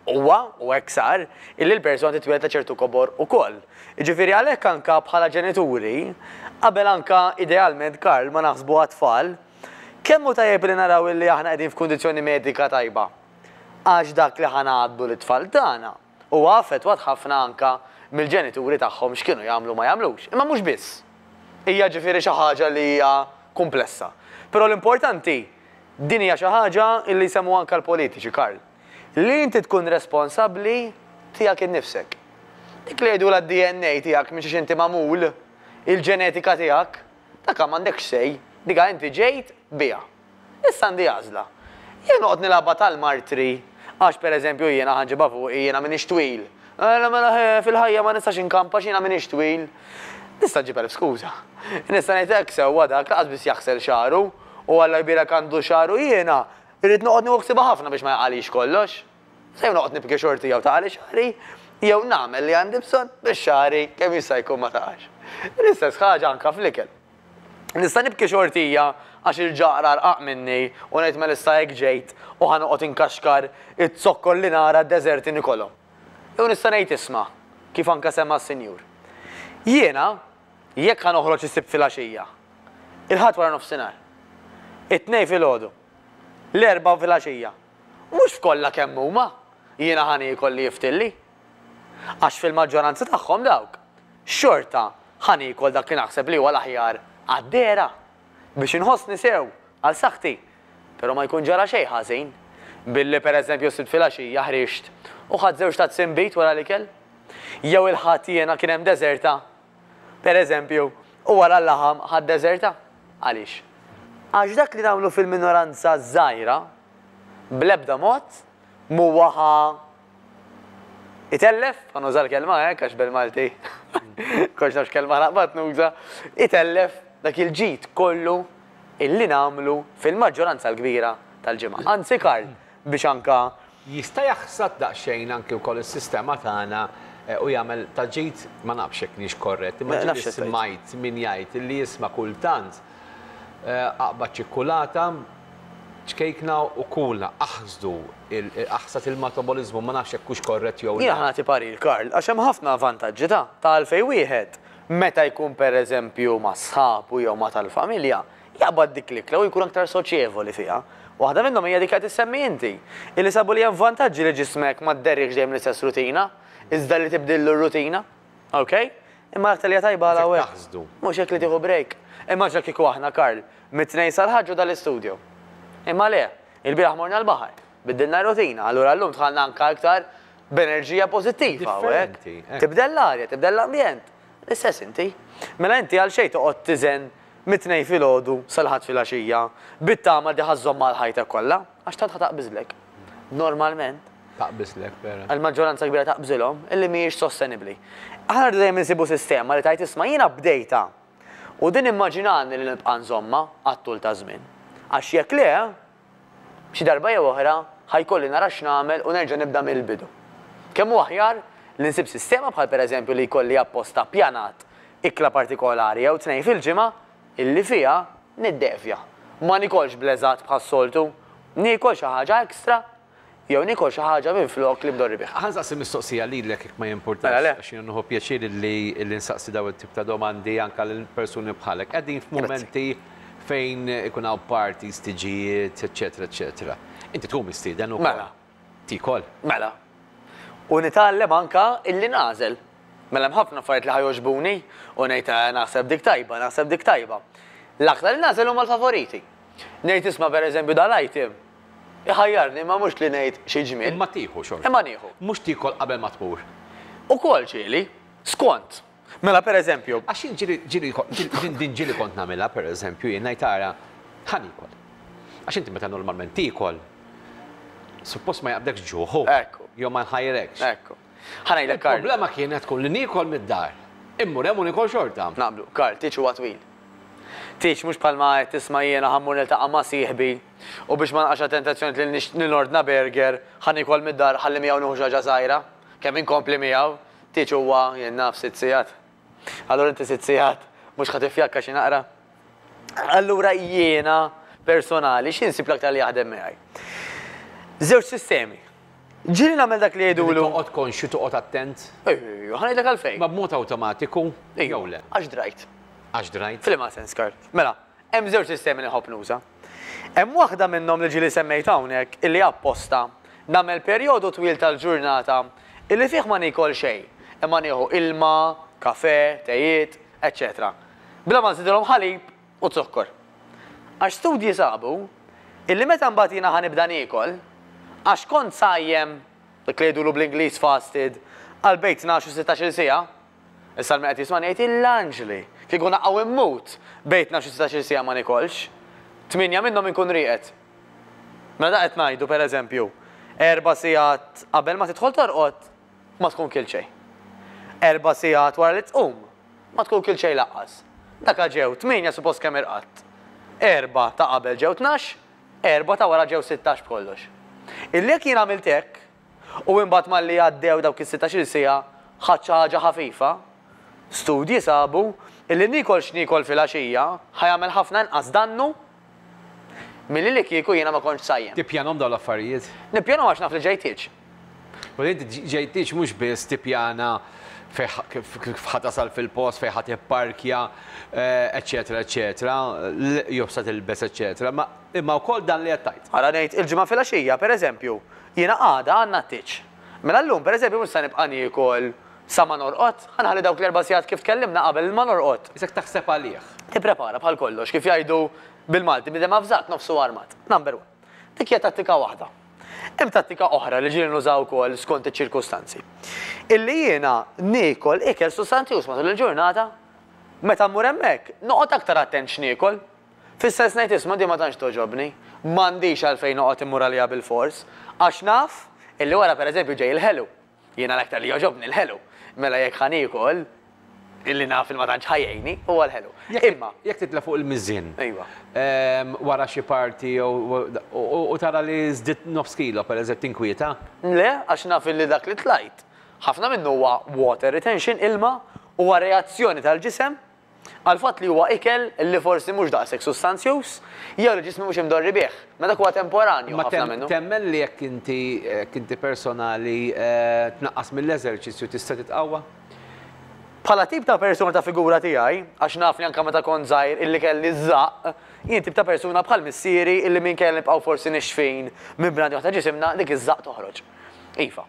huwa, u hekk sar, illi l-persuna titwieled ta' ċertu kobor ukoll. Jiġifieri għalhekk anka bħala ġenituri, qabel anka idealment Karl ma naħsbu għat-tfal, kemm hu tajjeb li naraw illi aħna qegħdin f'kundizzjoni medika tajba. Għax dak li ħa ngħaddu lit-tfal tagħna huwa affettwat ħafna anka mill-ġenituri tagħhom x'kienu jagħmlu ma jagħmlux. Imma mhux biss. Hija ġifieri xi ħaġa li hija komplessa. Però l-importanti din hija xi ħaġa illi jsemmu anka l-politiċi, Karl. Li inti tkun responsabbli tiegħek innifsek. Dik li jgħidu la D N A tiegħek minn xiex inti magħmul, il-ġenetika tiegħek, dak m'għandekx sej, dika inti ġejt biha. Issa għandi għażla. Jien noqgħod nilgħabha tal-martri għax pereżempju jiena ħa nġibha fuqi jiena m'iniex twil. Mela, mela, fil-ħajja ma nistax inkampa x'jiena m'iniex twil. Nista' nġib elf skuża. Nista' ngħid hekk sewwa dak laqas biss jaħsel xagħru u Alla jbierek għandu xagħru jiena irrid noqgħod nieħu ħsiebha ħafna biex ma jaqalix kollox. Sew noqgħod nibki xorti jew taqali xagħri, jew nagħmel li għandi bżonn biex xagħri kemm jista' jkun ma taqax. L-istess ħaġa anke fl-ikel. Nista' nibki xortija għax il-ġaqra rqaq minni u ngħid mela issa hekk ġejt u ħa noqgħod inkaxkar it-zokkor li nara d-deżerti nikolhom. Jew nista' ngħid isma' kif anke semma s-sinjur. Jiena jekk ħa noħroġ is-Sibt filgħaxija, il-Ħadd wara nofsinhar, it-Tnejn filgħodu, l-Erbgħa filgħaxija, mhux f'kollha kemm huma jiena ħa niekol li jiftilli. Għax fil-maġġoranza tagħhom dawk, xorta ħa niekol dak li naħseb li huwa l-aħjar għad-dehra biex inħossni sew għal saħħti. Però ma jkun ġara xejn ħażin billi pereżempju s-Sibt filgħaxija ħriġt u ħadt żewġ tazzi nbid wara l-ikel. Jew il-Ħadd jiena kien hemm deżerta, pereżempju, u wara l-laħam ħadd deżerta. Għaliex? Għax dak li nagħmlu fil-minoranza żgħira bl-ebda mod m'huwa ħa itellef, ħa nuża l-kelma hekk għax bil-Malti kontx nafx kelma naqbad nuża, itellef dak il-ġid kollu illi nagħmlu fil-maġġoranza l-kbira tal-ġimgħa. Anzi Karl, biex anka jista' jaħsad daqsxejn anki wkoll is-sistema tagħna u jagħmel ta' ġid, ma nafx hekk nix korrett, imma Nafx ġieli x'qed tgħid. smajt min jgħid li jisma' kultant aqbad ċikkulata, ċkejkna u kula, aħsdu aħsad il-metabolizmu, ma nafx hekk hux korrett jew le. Jiena ħa nagħti parir, Karl, għax hemm ħafna vantaġġi ta' ta' għalfejn wieħed meta jkun pereżempju ma' sħabu jew ma' tal-familja, jaqbad dik l-ikla u jkun aktar soċjevoli fiha. Waħda minnhom hija dik li qed issemmi inti, illi sabu li hemm vantaġġi li ġismek ma dderrikx dejjem l-istess rutina, iżda li tibdillu r-rutina, ok? Imma l-aktar li hija tajba għal hawnhekk. Taħsdu. Mhux hekk li tieħu break. Immaġna kieku aħna, Karl, mit-tnejn sal-ħaġġu dal-istudio. Imma le, il-bieraħ morna l-baħar, biddilna rutina, allura llum dħalna anka aktar b'enerġija pożittiva, u hekk. Differenti, hekk. Tibdel l-arja, tibdel l-ambjent. L-istess inti. Mela inti għal xejn toqgħod tiżen mit-tnejn filgħodu sal-Ħadd filgħaxija, bit-tama li ħażhom mal-ħajtek kollha, għax tant ħa taqbiżlek. Normalment. Taqbiżlek, vera. Għal-maġġoranza kbira taqbżilhom illi mhijiex sostenibbli. Aħna rridu dejjem insibu sistema li tajt isma' jiena bdejta. U din immaġinani li nibqa' nżomma għat-tul ta' żmien. Għax jekk le, xi darba jew oħra ħajkolli nara x'nagħmel u nerġa' nibda mill-bidu. Kemm hu aħjar li nsib sistema bħal pereżempju li jkolli apposta pjanat ikla partikolari jew tnejn fil-ġimgħa illi fiha niddevja. Ma nikolx bleżat bħas-soltu Niekol xi ħaġa ekstra jew niekol xi ħaġa minflok li mdorri bih. Ħa nsaqsi mistoqsija lilek jekk ma jimpurtax. Mela, le. Għax jien nieħu pjaċir li li nsaqsi daw it-tip ta' domandi anke lil persuni bħalek. Qegħdin f'mumenti fejn ikun hawn parties, tiġijiet, eċetera, eċetera. Inti tkun mistieden ukoll. Mela. Tikol. Mela. U nitgħallem anka illi nagħżel. Mela hemm ħafna affarijiet li ħa jogħġbuni u ngħid "Eh, naħseb dik tajba, naħseb dik tajba. L-aktar li nagħżel huma l-favoriti. Ngħid isma' pereżempju dal-item. Iħajjarni ma mhux li ngħid xi ġmiel. Imma tieħu xorta. Imma nieħu. Mhux tikol qabel ma tmur. Ukoll ġieli, skont. Mela pereżempju, Għax jien ġieli ġieli din din ġieli kont nagħmilha pereżempju jien ngħid ara ħa niekol. Għax inti meta normalment tikol, suppost ma jaqbdekx ġuħu. Ekku. Jew ma nħajrekx. ekku. Ħa ngħidlek Karl. Il-problema kienet tkun li niekol mid-dar. Immur hemm u niekol xorta. Naqblu, Karl, tieġ huwa twil. Tieġ mhux bħalma qed tisma' jiena ħa mmur niltaqa' ma' sieħbi u biex ma naqax tentazzjoni li nix- nordna burger, ħa niekol mid-dar ħalli miegħu nieħu xi ħaġa żgħira, kemm inkompli miegħu, tieġ huwa jien naf sitt sigħat. Allura inti sitt sigħat mhux ħa tifjakka xi naqra. Allura jiena personali x'insib l-aktar li jaħdem miegħi. Żewġ sistemi. Ġieli nagħmel dak li jgħidulu. Toqgħod konxju, toqgħod attent. Ejju, ħa ngħidlek għalfejn. Ma b'mod awtomatiku jew le. Għax drajt. Għax drajt. F'liema sens, Karl. Mela, hemm żewġ sistemi li nħobb nuża. Hemm waħda minnhom li ġieli semmejt hawnhekk illi apposta nagħmel perjodu twil tal-ġurnata illi fih ma nikol xejn, imma nieħu ilma, kafe, tejiet, eċetera. Bla ma nżidilhom ħalib u zokkor. Għax studji sabu illi meta mbagħad jiena ħa nibda niekol, għax kont sajjem, dak li jgħidulu bl-Ingliż fasted, għal bejn tnax u sittax-il siegħa, issa l qed jisma' jgħid il-anġli, kieku naqgħu immut bejn tnax u sittax-il siegħa ma nikolx, tmienja minnhom inkun rieqed. Mela da qed ngħidu pereżempju, erba' sigħat qabel ma tidħol torqod ma tkun kilt xejn. Erba' sigħat wara li tqum ma tkun kilt xejn lanqas. Daka ġew tmienja suppost kemm irqadt. Erba' ta' qabel ġew tnax, erba' ta' wara ġew sittax b'kollox. Illi jekk jien għamilt hekk u imbagħad malli għaddew dawk is-sittax-il siegħa ħadt xi ħaġa ħafifa, studji sabu illi nikol x'nikol filgħaxija ħa jagħmel ħafna inqas dannu milli li kieku jiena ma kontx sajjem. Tippjanhom dawn l-affarijiet. Nippjanu għax naf li ġej tieġ. U inti ġej tieġ mhux biss tippjana kif ħa tasal fil-post, fejn ħa tipparkja, eċetera, eċetera, jew sa tilbes, eċetera, ma imma wkoll dan li qed tgħid. Ara ngħid il-ġimgħa filgħaxija, pereżempju, jiena għada għandna t-tieġ. Mela llum, pereżempju, mhux se nibqa' niekol sa ma norqod, ħa nħalli dawk l-erba' sigħat kif tkellimna qabel ma norqod. Isek taħseb għalih. Tipprepara bħal kollox, kif jgħidu bil-Malti, bniedem avżat nofsu armat. Number one. Dik hija tattika waħda. Hemm tattika oħra li ġieli nużaw ukoll skont iċ-ċirkustanzi. Illi jiena niekol ikel sustanzjuż matul il-ġurnata, meta mmur hemmhekk, noqgħod aktar attent x'niekol. Fis-sens ngħid isma' di ma tantx togħġobni, m'għandix għalfejn noqgħod immur għaliha bil-fors, għax naf illi wara pereżempju ġej il-ħelu. Jiena l-aktar li jogħġobni l-ħelu. Mela jekk ħa niekol, illi naf il ma tantx ħa jgħinni huwa l-ħelu. Imma Jekk titla' fuq il-miżien. Ejwa. Ehm, wara xi party jew u tara li żdidt nofs kilo pereżempju tinkwieta? Le, għax naf illi dak li tlajt. Ħafna minnu huwa water retention, ilma, huwa reazzjoni tal-ġisem għal fatt li huwa ikel li forsi mhux daqshekk sustanzjuż, jew li ġismi mhux imdorri bih. Ma dak huwa temporanju Ma ħafna tem- minnu. temmen li jekk inti jekk inti personali eh, tnaqqas mill-eżerċizzju tista' titqawwa? Bħala tip ta' persuna ta' figura tiegħi, għax naf li anke meta kont żgħir illi kelli żaqq, jien tip ta' persuna bħal missieri illi minn kelli nibqgħu forsi nixfin minn bnadi ta' ġisimna dik iż-żaqq toħroġ. Iva.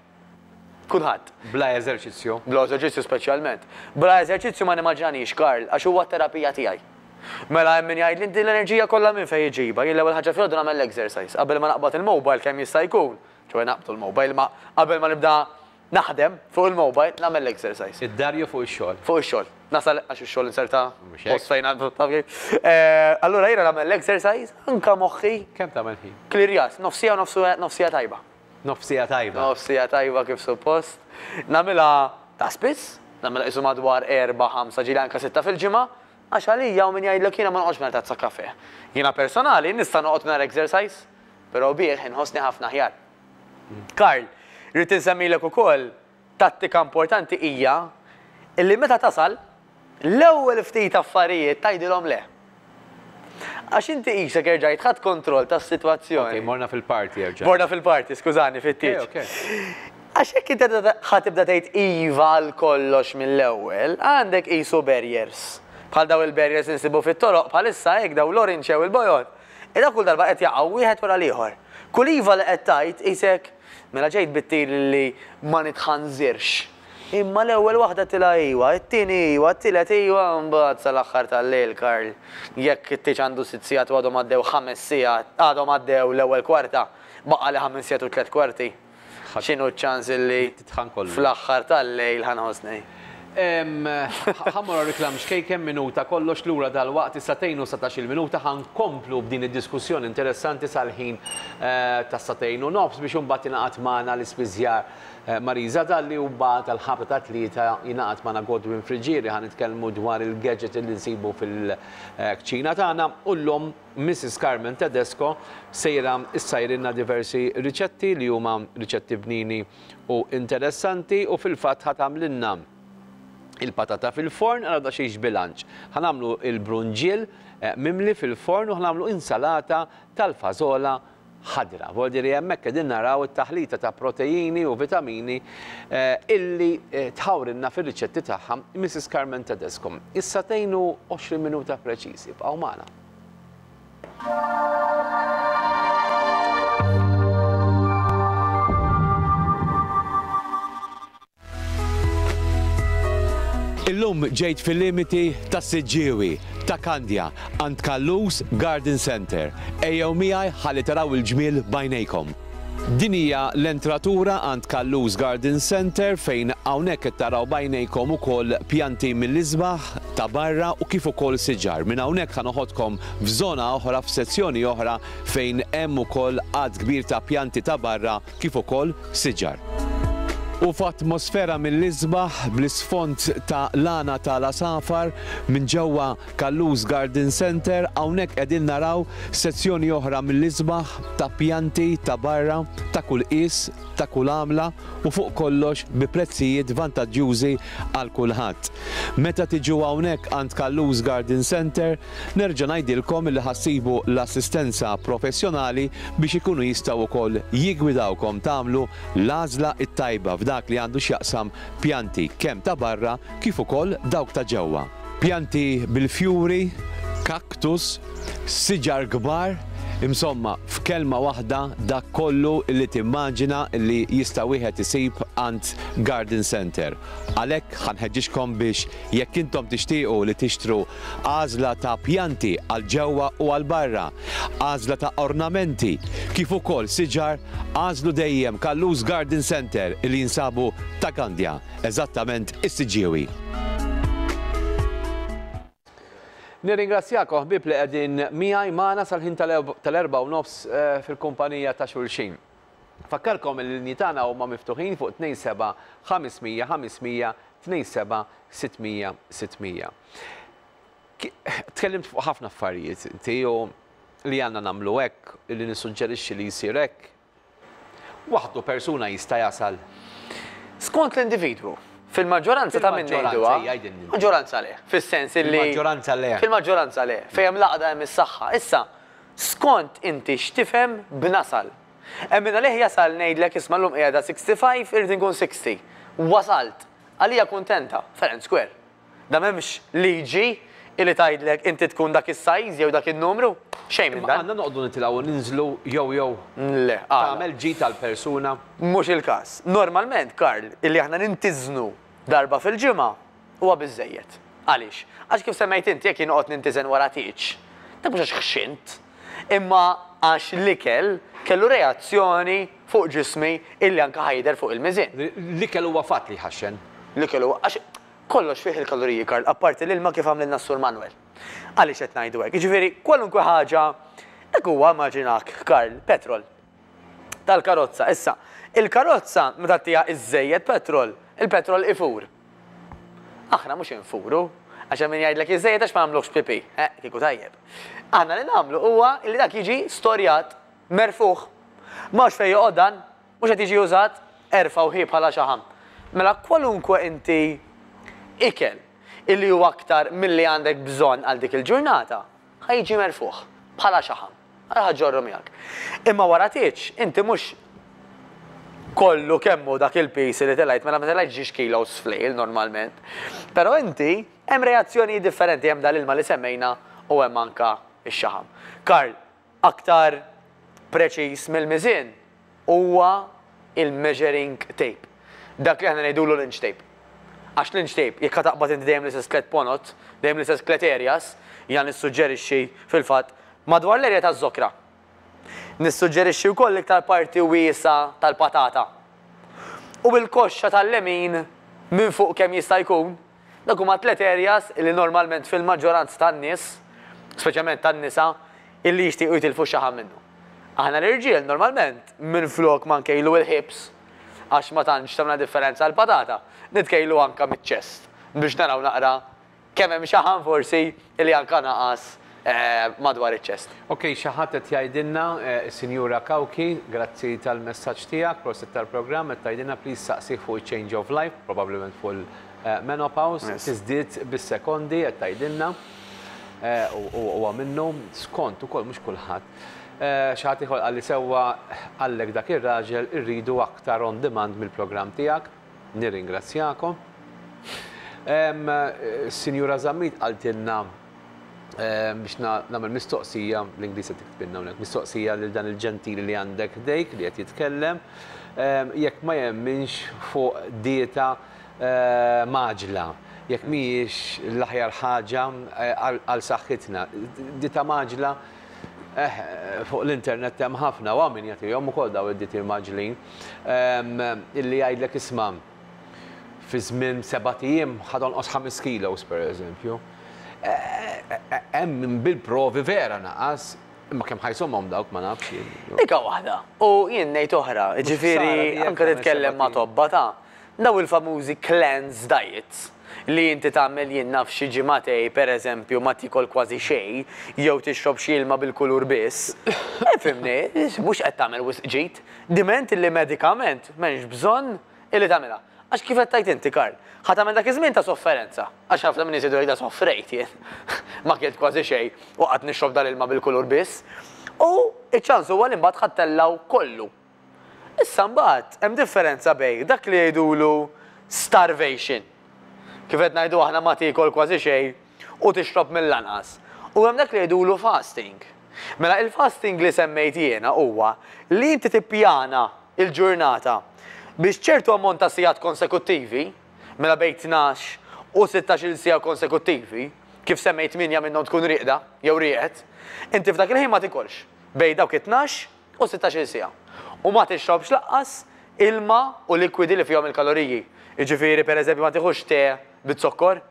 Kulħadd. Bla eżerċizzju. Bla eżerċizzju speċjalment. Bla eżerċizzju ma nimmaġinanix, Karl, għax huwa terapija tiegħi. Mela hemm min jgħid li inti l-enerġija kollha minn fejn iġibha, jien l-ewwel ħaġa filgħodu nagħmel l-exercise qabel ma naqbad il-mobile kemm jista' jkun. Ċoè naqbdu l-mobile, ma qabel ma nibda naħdem fuq il-mobile nagħmel l-exercise. Id-dar jew fuq ix-xogħol. Fuq ix-xogħol. Nasal għax ix-xogħol inserta Mhux hekk. post fejn taf kif. Eh, Allura jiena nagħmel l-exercise anka moħħi Kemm tagħmel ħin? klirjat, nofsija nofsu nofsija tajba. Nofsija tajba. Nofsija tajba kif suppost. Nagħmilha ta' spiss, nagħmilha qisu madwar erba', ħamsa, ġieli anka sitta fil-ġimgħa, għax għalija u min jgħidlek jiena ma noqgħodx mingħajr tazza kafe. Jiena personali nista' noqgħod mingħajr exercise, però bih inħossni ħafna aħjar. Karl, rrid insemmilek ukoll tattika importanti hija illi meta tasal l-ewwel ftit affarijiet tgħidilhom le. Għax inti qisek erġajt ħadt kontroll tas-sitwazzjoni. Ok, morna fil-party erġa'. Morna fil-party, skużani, fit-tieġ. Għax jekk inti ħa tibda tgħid iva għal kollox mill-ewwel, għandek qisu barriers. Bħal daw il-barriers insibu fit-toroq bħalissa hekk daw l-orange jew il-bojod. Ida kull darba qed jaqgħu wieħed wara l-ieħor. Kull iva li qed tgħid qisek mela ġejt bit-tir li ma nitħanżirx. Imma l-ewwel waħda tilha iwa, it-tieni iwa, it-tielet iwa, mbagħad sal-aħħar tal-lejl, Karl. Jekk it-tieġ għandu sitt sigħat u għadhom għaddew ħames sigħat, għadhom għaddew l-ewwel kwarta, baqa' li ħames sigħat u tliet kwarti. X'inhu ċ-ċans illi fl-aħħar tal-lejl ħa nħossni? Ħa mmorru reklam xkejken minuta kollox lura dal-waqt is-sagħtejn u satax-il minuta ħa nkomplu b'din id-diskussjoni interessanti sal-ħin tas-sagħtejn u nofs biex imbagħad ingħaqad magħna l-ispiżjar Marisa Dalli u mbagħad għall-ħabta ta' tlieta jingħaqad magħna Godwin Friġieri ħa nitkellmu dwar il-gadget li nsibu fil-kċina tagħna u llum Missus Carmen Tedesco sejra issajrilna diversi riċetti li huma riċetti bnini u interessanti u fil-fatt ħa tagħmlilna il-patata fil-forn għal da xejn bilanċ. Ħa nagħmlu il-brunġiel mimli fil-forn u ħa nagħmlu insalata tal-fażola ħadra. Vuol dire hemmhekk qegħdin naraw it-taħlita ta' proteini u vitamini illi tħawrilna fir-riċetti tagħha Missus Carmen Tedesco. Issa tgħinu għoxrin minuta preċiżi, bqgħu magħna. Illum ġejt fil-limiti ta' Siġġiewi, ta' Kandja, għand Callus Garden Center. Ejjew miegħi ħalli taraw il-ġmiel bajnejkom. Din hija l-entratura għand Callus Garden Center fejn hawnhekk qed taraw bajnejkom ukoll pjanti mill-isbaħ ta' barra u kif ukoll siġar. Minn hawnhekk ħa noħodkom f'żona oħra, f'sezzjoni oħra fejn hemm ukoll għadd kbir ta' pjanti ta' barra kif ukoll siġar. U f'atmosfera mill-isbaħ bl-isfond ta' lana tal-asafar minn ġewwa Callus Garden Center hawnhekk qegħdin naraw sezzjoni oħra mill-isbaħ ta' pjanti ta' barra ta' kull qies, ta' kull għamla u fuq kollox bi prezzijiet vantaġġjużi għal kulħadd. Meta tiġu hawnhekk għand Callus Garden Center nerġa' ngħidilkom li ħassibu l-assistenza professjonali biex ikunu jistgħu wkoll jiggwidawkom tagħmlu l-għażla t-tajba f'dak li għandu x'jaqsam pjanti kemm ta' barra kif ukoll dawk ta' ġewwa. Pjanti bil-fjuri, kaktus, siġar kbar, insomma f'kelma waħda dak kollu li timmaġina li jista' wieħed isib għand Garden Center. Għalhekk ħanħeġġixkom biex jekk intom tixtiequ li tixtru għażla ta' pjanti għal ġewwa u għal barra, għażla ta' ornamenti, kif ukoll siġar, għażlu dejjem Callus Garden Center li jinsabu ta' Kandja, eżattament is-Siġġiewi. Nirringrazzjakom ħbieb li qegħdin miegħi magħna sal-ħin tal-erba' u nofs fil-kumpanija ta' xulxin. Fakkarkom il-linji tagħna huma miftuħin fuq tnejn seba' ħames mija ħames mija tnejn seba' sitt mija sitt mija. Tkellimt fuq ħafna affarijiet inti u li għandna nagħmlu hekk, li nissuġġerixxi li jsir hekk. Waħdu persuna jista' jasal. Skont l-individwu. Fil-maġġoranza ta' minn ngħiduha. Maġġoranza le, fis-sens illi. Fil-maġġoranza le. Fil-maġġoranza le, fejn hemm laqda hemm is-saħħa. Issa, skont inti x'tifhem b'nasal. Hemm min għalih jasal ngħidlek isma' llum qiegħda sixty-five irid inkun sixty. Wasalt. Għalija kuntenta, fair and square. Da m'hemmx liġi illi tgħidlek inti tkun dak is-size jew dak in-numru, xejn minn dan. Għandna noqogħdu nitilgħu ninżlu jew jew. Le, tagħmel ġid tal-persuna. Mhux il-każ. Normalment, Karl, illi aħna nintiżnu darba fil-ġimgħa huwa biżejjed. Għaliex? Għax kif semmejt inti jekk jien noqgħod nintiżen wara tieġ, dak mhux għax ħxint, imma għax l-ikel kellu reazzjoni fuq ġismi illi anke ħajder fuq il-miżien. L-ikel huwa fatt li ħaxxen. L-ikel huwa għax kollox fih il-kaloriji, Karl, apparti l-ilma kif għamlilna s-Sur Manuel. Għaliex qed ngħidu hekk? Jiġifieri kwalunkwe ħaġa dak huwa immaġinak, Karl, petrol tal-karozza. Issa, il-karozza meta ttiha iżejjed petrol, il-petrol ifur. Aħna mhux infuru, għax hemm min jgħidlek iżejjed għax ma nagħmluhx pipi, eh, kieku tajjeb. Aħna li nagħmlu huwa li dak jiġi storjat, merfuħ. Mhux fejn joqgħod dan, mhux qed jiġi użat, erfa' u ħi bħala xaħam. Mela kwalunkwe inti ikel illi huwa aktar milli għandek bżonn għal dik il-ġurnata, ħajġi merfuħ. bħala xaħam. Għal ħa ġġorru miegħek. Imma wara tieġ, inti mhux kollu kemmu dak il-piż li telajt, mela ma telajt ġiex kilos flejl normalment. Però inti hemm reazzjoni differenti, hemm dal-ilma li semmejna u hemm anka x-xaħam. Karl, aktar preċiż mill-miżien huwa il-measuring tape. Dak li aħna ngħidulu l-inch tape. Għax l-inch tape, jekk taqbad inti dejjem l-istess tliet ponot, dejjem l-istess tliet areas, jien nissuġġerixxi fil-fatt madwar l-area taż-żokra. Nissuġġerixxi wkoll iktar parti wiesa tal-patata. U bil-koxxa tal-lemin minn fuq kemm jista' jkun, dak huma tliet areas li normalment fil-maġġoranza tan-nies, speċjalment tan-nisa, illi jixtiequ jitilfu xaħam minnu. Aħna l-irġiel normalment minn flok ma nkejlu il-hips, għax ma tantx tagħmel differenza għall-patata, nitkejlu anka miċ-chest biex naraw naqra kemm hemm xaħam forsi illi anka naqas eh, madwar iċ-chest. Ok, xi ħadd qed jgħidilna, eh, Sinjura Kawki, grazzi tal-messaġġ tiegħek, prosit tal-programm, qed tgħidilna please saqsih fuq change of life, probabbilment fuq il-menopause, tiżdied bis-sekondi qed tgħidilna. Eh, u huwa minnu skont ukoll mhux kulħadd. Xi ħadd ieħor qalli sewwa għallek dak ir-raġel, irridu aktar on demand mill-programm tiegħek. Nirringrazzjakom. Sinjura Zammit qaltilna biex nagħmel mistoqsija, l-Ingliż qed tiktbilna hawnhekk, mistoqsija lil dan il-ġentili li għandek ħdejk li qed jitkellem, jekk ma jemminx fuq dieta mgħaġġla, jekk mhijiex l-aħjar ħaġa għal saħħitna. Dieta mgħaġġla fuq l-internet hemm ħafna u min jagħtihom ukoll daw id-dieti mgħaġġlin illi jgħidlek isma' fi żmien sebat ijiem ħa tonqos ħames kilos pereżempju. Hemm bil-provi vera naqas, imma kemm ħa jżommhom dawk ma nafx. Dika waħda. U jien ngħid oħra, ġifieri anke titkellem ma' tobba ta' daw il-famużi cleanse diets li inti tagħmel jien naf xi ġimagħtejn pereżempju ma tikol kważi xejn jew tixrob xi ilma bil-kulur biss. Ifhimni, mhux qed tagħmel wisq ġid, diment li medikament m'hemmx bżonn illi tagħmilha. Għax kif qed tgħid inti, Karl, ħa tagħmel dak iż-żmien ta' sofferenza. Għax ħafna minn nies jgħidu soffrejt jien. Ma kilt kważi xejn u qatt nixrob dal-ilma bil-kulur biss. U iċ-ċans huwa li mbagħad ħa ttellgħu kollu. Issa mbagħad hemm differenza bejn dak li jgħidulu starvation. Kif qed ngħidu aħna ma tiekol kważi xejn u tixrob mill-anqas. U hemm dak li jgħidulu fasting. Mela il-fasting li semmejt jiena huwa li inti tippjana il-ġurnata biex ċertu ammont ta' sigħat konsekuttivi, mela bejn tnax u sittax-il siegħa konsekuttivi, kif semmejt tmienja minnhom tkun rieqda jew rieqed, inti f'dak il-ħin ma tikolx bejn dawk it-tnax u sittax-il siegħa. U ma tixrobx lanqas ilma u likwidi li fihom il-kaloriji. Jiġifieri pereżempju ma tieħux te bit-zokkor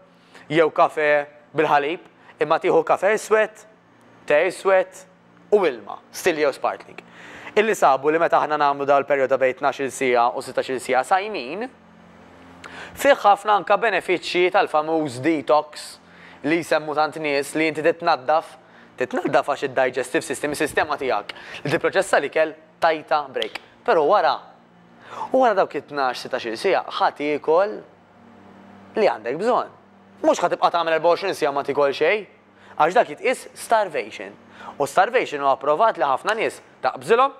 jew kafe bil-ħalib, imma tieħu kafe iswed, te iswed u ilma, still jew sparkling. Illi sabu li meta aħna nagħmlu dal perjodu bejn tnax-il siegħa u sittax-il siegħa sajmin, fih ħafna anka benefiċċji tal-famuż detox li jsemmu tant nies li inti titnaddaf, titnaddaf għax id-digestive system, is-sistema tiegħek li tipproċessa l-ikel tajta break. Però wara, u wara dawk it-tnax sittax-il siegħa ħa tiekol li għandek bżonn. Mhux ħa tibqa' tagħmel erbgħa u għoxrin siegħa ma tikol xejn, għax dak jitqies starvation. U starvation huwa approvat li ħafna nies taqbżilhom.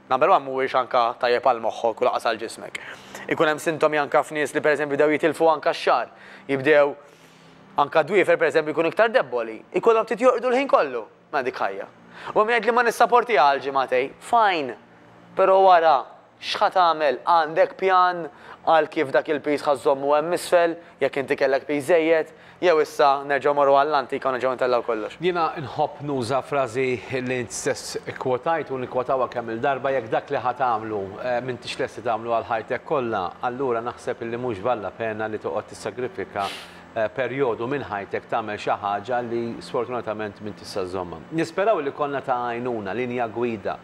Number one mhuwiex anka tajjeb għal moħħok u laqas għal ġismek. Ikun hemm sintomi anka f'nies li pereżempju bdew jitilfu anka x-xagħar, jibdew anka dwiefer pereżempju jkunu iktar debboli, ikollhom ftit jorqdu l-ħin kollu ma dik ħajja. U min jgħid li ma nissaporti għal ġimagħtej, fine, però wara x'ħa tagħmel? Għandek pjan għal kif dak il-piż ħa żżommu hemm isfel, jekk inti kellek piż żejjed, jew issa nerġgħu morru għall-antika u nerġgħu ntellgħu kollox. Jiena nħobb nuża frażi li int stess ikkwotajt u nikkwotawha kemm il-darba, jekk dak li ħa tagħmlu, eh, m'intix lesti tagħmlu għal ħajtek kollha, allura naħseb illi mhux valla pena li toqgħod tissagrifika, eh, perjodu minn ħajtek tagħmel xi ħaġa li sfortunatament m'intix se żżommha. Nisperaw li konna ta' għajnuna, linja gwida.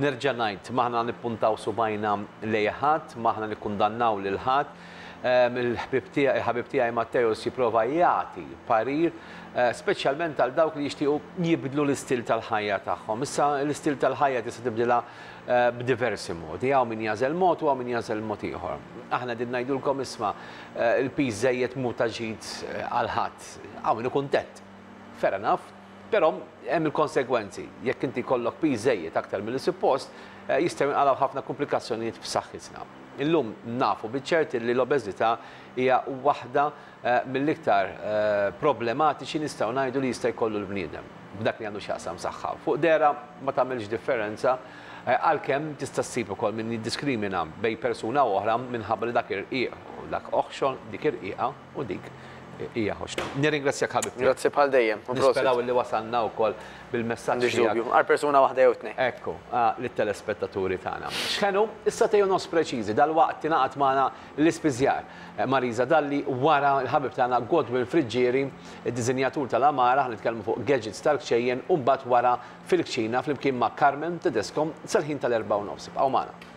Nerġa' ngħid, m'aħna nippuntaw subajna lejn ħadd, m'aħna nikkundannaw lil ħadd. Ehm, il-ħbib tiegħi, il-ħabib tiegħi Matteus jipprova jagħti parir, eh, speċjalment għal dawk li jixtiequ jibdlu l-istil tal-ħajja tagħhom. Issa l-istil tal-ħajja tista' tibdilha, eh, b'diversi modi, hawn min jagħżel mod u hawn min jagħżel mod ieħor. Aħna din ngħidulkom isma', eh, il-piż żejjed mhu ta' ġid, eh, għal ħadd, hawn min hu kuntent. Fair enough, Però hemm il-konsegwenzi. Jekk inti jkollok piż żejjed aktar milli suppost, jistgħu jinqalgħu ħafna komplikazzjonijiet f'saħħitna. Illum nafu biċ-ċert li l-obeżità hija waħda mill-iktar problematiċi, nistgħu ngħidu, li jista' jkollu l-bniedem b'dak li għandu x'jaqsam saħħa. Fuq dehra ma tagħmilx differenza, għalkemm tista' ssib ukoll min jiddiskrimina bejn persuna u oħra minħabba li dak irqiq u dak oħxon, dik irqiqa u dik hija ħoxna. Nirringrazzjak, ħabib. Grazzi bħal dejjem. Nisperaw li wasalna wkoll bil-messaġġ. M'għandix dubju. Għal persuna waħda jew tnejn. Ekku, lit-telespettaturi tagħna. X'ħenu, is-sagħtejn u nofs preċiżi, dal-waqt tingħaqad magħna l-ispiżjar Marisa Dalli, wara l-ħabib tagħna Godwin Friggieri, id-diżinjatur tal-Amara, nitkellmu fuq gadgets tal-kċejjen, u mbagħad wara fil-kċina flimkien ma' Carmen Tedesco sal-ħin tal-erbgħa u nofs. Ibqgħu magħna.